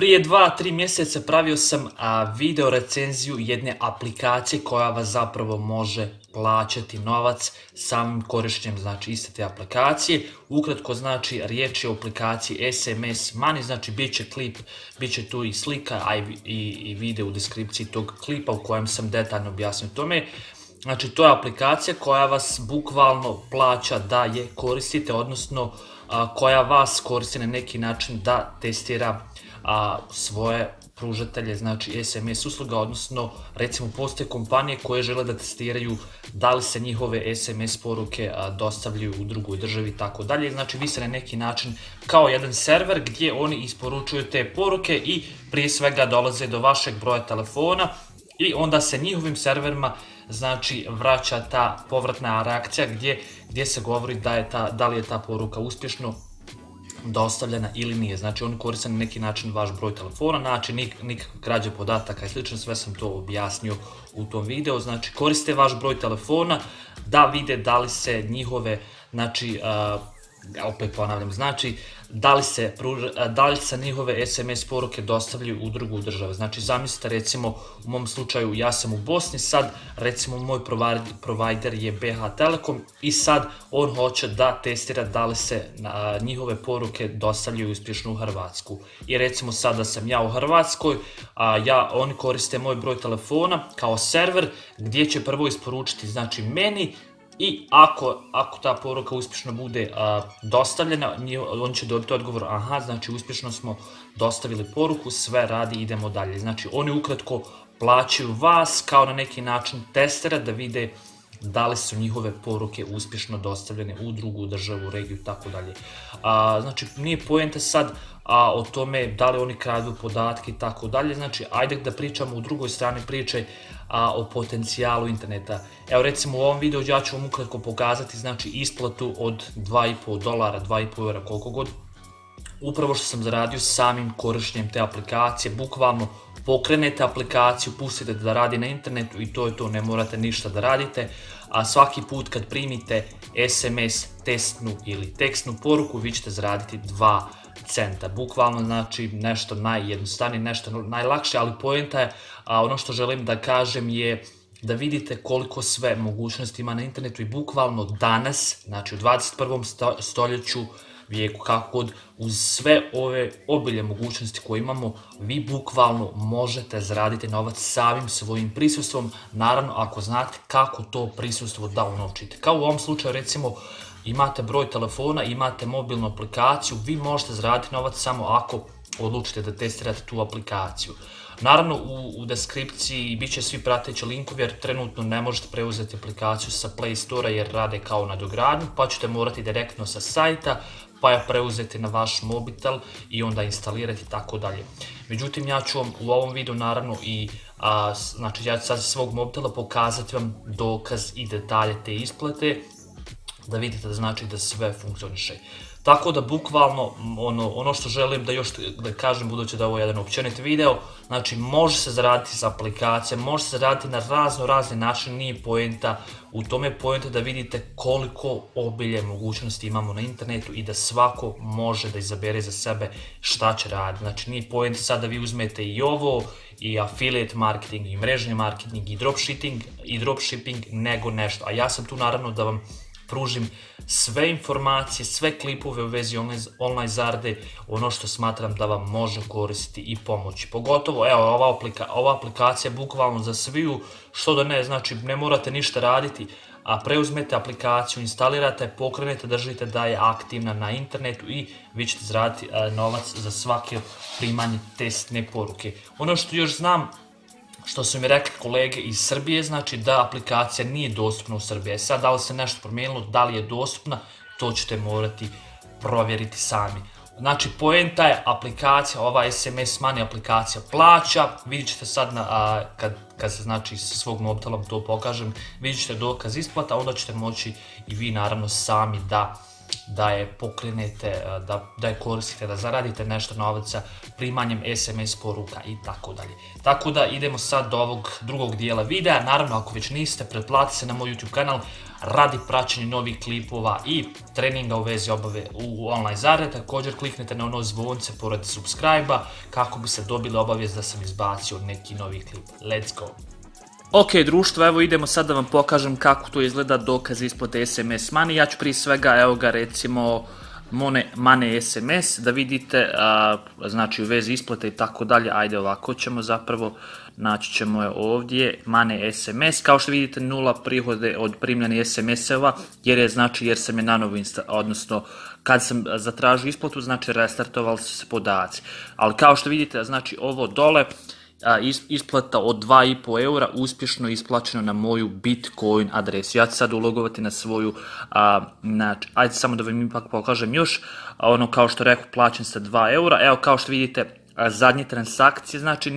Prije 2-3 mjeseca pravio sam video recenziju jedne aplikacije koja vas zapravo može plaćati novac samim korištenjem, znači iste te aplikacije. Ukratko, znači riječ je o aplikaciji SMS Money, znači bit će klip, bit će tu i slika, a i video u deskripciji tog klipa u kojem sam detaljno objasnio tome. Znači to je aplikacija koja vas bukvalno plaća da je koristite, odnosno koja vas koristi na neki način da testira svoje pružatelje, znači SMS usluga, odnosno recimo postoje kompanije koje žele da testiraju da li se njihove SMS poruke dostavljaju u drugoj državi i tako dalje. Znači vi ste na neki način kao jedan server gdje oni isporučuju te poruke i prije svega dolaze do vašeg broja telefona i onda se njihovim serverima znači vraća ta povratna reakcija gdje se govori da li je ta poruka uspješno dostavljena ili nije. Znači oni koriste na neki način vaš broj telefona, znači nikakve krađe podataka i slično, sve sam to objasnio u tom videu. Znači koriste vaš broj telefona da vide da li se njihove, znači opet ponavljam, znači da li se njihove SMS poruke dostavljaju u drugu državu. Znači zamislite, recimo u mom slučaju ja sam u Bosni, sad recimo moj provider je BH Telekom i sad on hoće da testira da li se njihove poruke dostavljaju uspješno u Hrvatsku. I recimo sad da sam ja u Hrvatskoj, oni koriste moj broj telefona kao server gdje će prvo isporučiti znači meni, i ako ta poruka uspješno bude dostavljena, on će dobiti odgovor, aha, znači uspješno smo dostavili poruku, sve radi, idemo dalje. Znači oni ukratko plaćaju vas kao na neki način testera da vide da li su njihove poruke uspješno dostavljene u drugu državu, regiju i tako dalje. Znači nije poenta sad o tome da li oni kradu podatke i tako dalje, znači ajde da pričamo u drugoj strani priče o potencijalu interneta. Evo recimo u ovom videu ja ću vam ukratko pokazati znači isplatu od $2,5, €2,5, koliko god, upravo što sam zaradio samim korištenjem te aplikacije. Bukvalno pokrenete aplikaciju, pustite da radi na internetu i to je to, ne morate ništa da radite. A svaki put kad primite SMS testnu ili tekstnu poruku vi ćete zaraditi 2 centa. Bukvalno znači nešto najjednostavnije, nešto najlakše, ali poenta je, ono što želim da kažem je da vidite koliko sve mogućnosti ima na internetu i bukvalno danas, znači u 21. stoljeću, vijeku, kako god, uz sve ove obilje mogućnosti koje imamo, vi bukvalno možete zaraditi novac samim svojim prisustvom, naravno ako znate kako to prisustvo da unovčite. Kao u ovom slučaju recimo imate broj telefona, imate mobilnu aplikaciju, vi možete zaraditi novac samo ako odlučite da testirate tu aplikaciju. Naravno u deskripciji bit će svi prateći linkovi jer trenutno ne možete preuzeti aplikaciju sa Play Store jer rade kao nadogradnju, pa ćete morati direktno sa sajta pa je preuzeti na vaš mobitel i onda instalirati i tako dalje. Međutim, ja ću vam u ovom videu naravno znači ja ću sad svog mobitela pokazati vam dokaz i detalje te isplate, da vidite da znači da sve funkcioniše. Tako da bukvalno ono što želim da još da kažem, budući da je ovo jedan općenit video, znači može se zaraditi s aplikacijama, može se zaraditi na razne načine, nije poenta u tome, poenta da vidite koliko obilje mogućnosti imamo na internetu i da svako može da izabere za sebe šta će raditi. Znači nije poenta sad da vi uzmete i ovo, i affiliate marketing, i mrežni marketing, i dropshipping, nego nešto. A ja sam tu naravno da vam pružim sve informacije, sve klipove u vezi online zarade, ono što smatram da vam može koristiti i pomoći. Pogotovo, evo, ova aplikacija bukvalno za sviju, što da ne, znači ne morate ništa raditi, a preuzmete aplikaciju, instalirate, pokrenete, držite da je aktivna na internetu i vi ćete zaraditi novac za svake primanje testne poruke. Ono što još znam, što su mi rekli kolege iz Srbije, znači da aplikacija nije dostupna u Srbiji. Sad da li se nešto promijenilo, da li je dostupna, to ćete morati provjeriti sami. Znači poenta je aplikacija, ova SMS Money aplikacija plaća, vidjet ćete sad kad se znači sa svog mobitelom to pokažem, vidjet ćete dokaz isplata, onda ćete moći i vi naravno sami da da je pokrenete, da je koristite, da zaradite nešto novaca primanjem SMS poruka i tako dalje. Tako da idemo sad do ovog drugog dijela videa. Naravno, ako već niste, pretplatite se na moj YouTube kanal radi praćenja novih klipova i treninga u vezi obave u online zarade. Također kliknite na ono zvonce pored subscribe-a kako biste dobili obavijest da sam izbacio neki novi klip. Let's go! Ok društvo, evo idemo sad da vam pokažem kako to izgleda dokaz isplate SMS Money. Ja ću prije svega, evo ga recimo Money SMS, da vidite, znači u vezi isplate i tako dalje. Ajde ovako ćemo zapravo, naći ćemo je ovdje, Money SMS, kao što vidite 0 prihode od primljenih SMS-eva, jer sam je nanovo odnosno kad sam zatražio isplatu, znači restartovali su se podaci. Ali kao što vidite, znači ovo dole, isplata od 2,5 eura uspješno isplaćeno na moju Bitcoin adresu. Ja ću sad ulogovati na svoju, znači, ajde samo da vam ipak pokažem još, ono kao što rekao, plaćam sa 2 eura, evo kao što vidite, zadnje transakcije, znači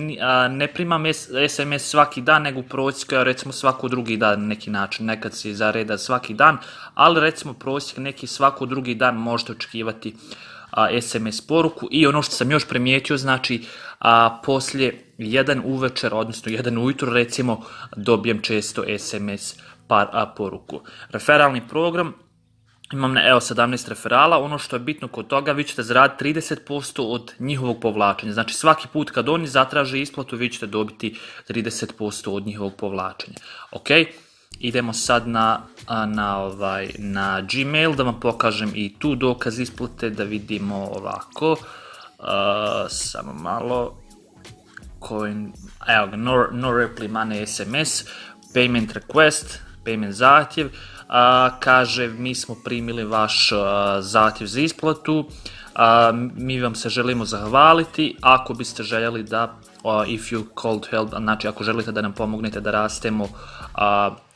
ne primam SMS svaki dan, nego u prosjeku, recimo svako drugi dan na neki način, nekad se zareda svaki dan, ali recimo prosjek neki svako drugi dan možete očekivati SMS poruku. I ono što sam još primijetio, znači poslije 1 uvečer, odnosno 1 ujutro recimo, dobijem često SMS poruku. Referalni program, imam evo 17 referala, ono što je bitno kod toga, vi ćete zaraditi 30% od njihovog povlačenja, znači svaki put kad oni zatraže isplatu, vi ćete dobiti 30% od njihovog povlačenja. Ok, idemo sad na Gmail da vam pokažem i tu dokaz isplate, da vidimo ovako, samo malo, evo ga, no reply money SMS, payment request, payment zahtjev, kaže mi smo primili vaš zahtjev za isplatu, mi vam se želimo zahvaliti, ako biste željeli da, if you called help, znači ako želite da nam pomognete da rastemo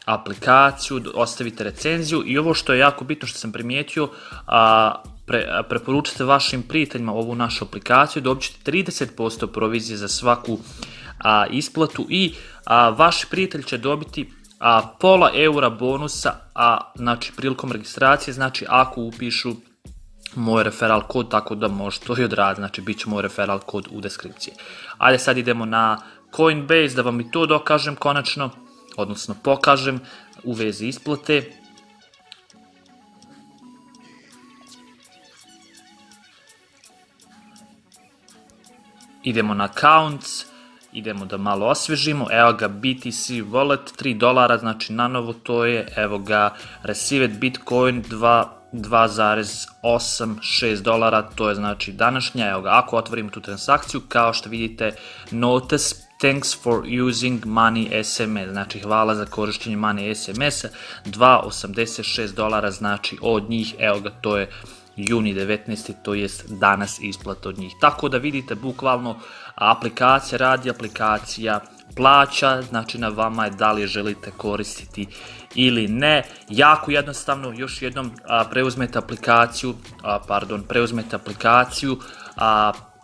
aplikaciju, ostavite recenziju. I ovo što je jako bitno što sam primijetio, preporučite vašim prijateljima ovu našu aplikaciju, dobit ćete 30% provizije za svaku isplatu i vaši prijatelji će dobiti pola eura bonusa, znači prilikom registracije, znači ako upišu moj referral kod, tako da možete to i odraditi, znači bit će moj referral kod u deskripciji. Ajde sad idemo na Coinbase da vam i to dokažem konačno, odnosno pokažem u vezi isplate. Idemo na accounts, idemo da malo osvježimo, evo ga BTC wallet, $3, znači na novo to je, evo ga received Bitcoin 2,86 to je znači današnja, evo ga, ako otvorimo tu transakciju, kao što vidite, notice, thanks for using Money SMS, znači hvala za korištenje Money SMS, $2,86, znači od njih, evo ga, to je juni 19. to jest danas isplata od njih. Tako da vidite, bukvalno aplikacija radi, aplikacija plaća, znači na vama je da li je želite koristiti ili ne. Jako jednostavno, još jednom preuzmete aplikaciju,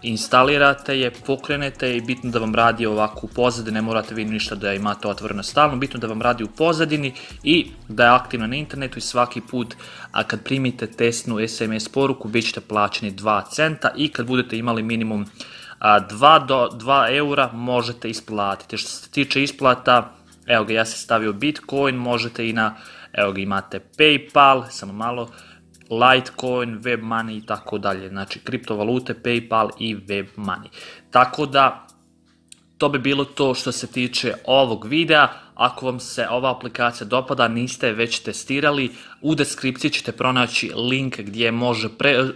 instalirate je, pokrenete je i bitno da vam radi ovako u pozadini, ne morate vi ništa da imate otvoreno stalno, bitno da vam radi u pozadini i da je aktivna na internetu i svaki put kad primite testnu SMS poruku bit ćete plaćeni 2 centa i kad budete imali minimum 2 eura možete isplatiti. Što se tiče isplata, evo ga, ja sam stavio Bitcoin, možete i na, evo ga, imate PayPal, samo malo, Litecoin, WebMoney i tako dalje, znači kriptovalute, PayPal i WebMoney. Tako da, to bi bilo to što se tiče ovog videa. Ako vam se ova aplikacija dopada, niste već testirali, u deskripciji ćete pronaći link gdje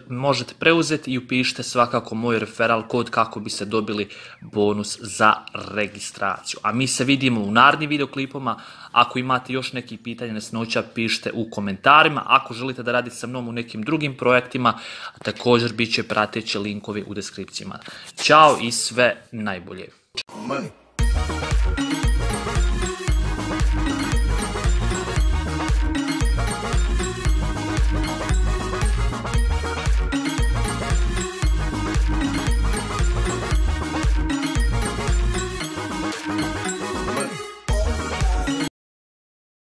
možete preuzeti i upišite svakako moj referral kod kako biste dobili bonus za registraciju. A mi se vidimo u narednim videoklipama. Ako imate još nekih pitanja, nesnoća, pišite u komentarima. Ako želite da radite sa mnom u nekim drugim projektima, također bit će prateći linkovi u deskripcijama. Ćao i sve najbolje.